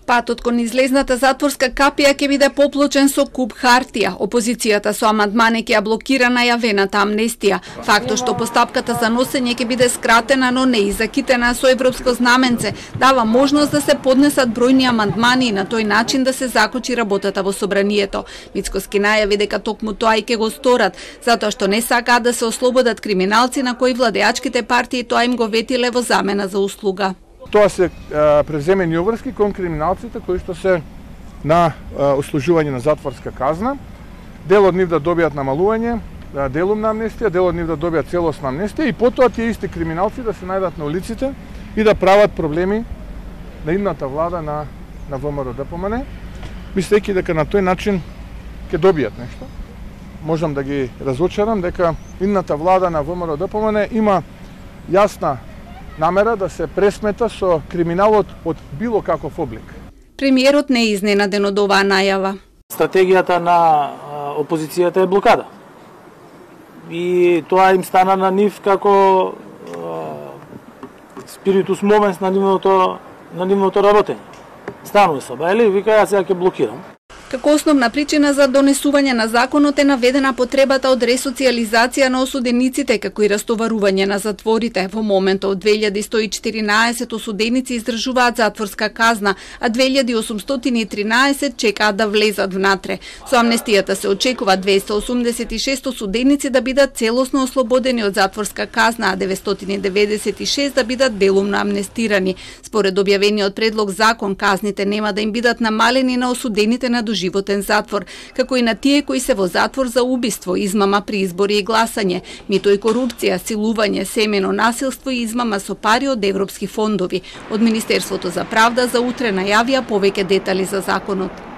Патот кон излезната затворска капија ќе биде поплочен со куп хартија. Опозицијата со амандмани ќе ја блокира најавената амнестија. Фактот што постапката за носење ќе биде скратена, но не и закитена со европско знаменце, дава можност да се поднесат бројни амандмани и на тој начин да се закочи работата во собранието. Мицкоски најави дека токму тоа и ќе го сторат, затоа што не сакаат да се ослободат криминалци на кои владеачките партии тоа им го ветиле во замена за услуга. Тоа се преземени обврски кон криминалците кои што се на услужување на затворска казна. Дел од нив да добијат намалување, делумна амнестија, дел од нив да добијат целосна амнестија и потоа тие исти криминалци да се најдат на улиците и да прават проблеми на идната влада на ВМРО-ДПМН, мислејќи дека на тој начин ќе добијат нешто. Можам да ги разочарам дека идната влада на ВМРО-ДПМН има јасна намера да се пресмета со криминалот од било каков облик. Премиерот не е изненаден од оваа најава. Стратегијата на опозицијата е блокада. И тоа им стана на нив како спиритус момент на нивното работење. Станува сабајле и вика, јас сега ќе блокирам. Како основна причина за донесување на законот е наведена потребата од ресоциализација на осудениците, како и растоварување на затворите. Во моментот 2114 осуденици издржуваат затворска казна, а 2813 чекаат да влезат внатре. Со амнестијата се очекува 286 осуденици да бидат целосно ослободени од затворска казна, а 996 да бидат делумно амнестирани. Според објавениот предлог закон, казните нема да им бидат намалени на осудените на доживотен затвор, како и на тие кои се во затвор за убиство, измама при избори и гласање, мито и корупција, силување, семено насилство и измама со пари од европски фондови. Од Министерството за правда за утре најавија повеќе детали за законот.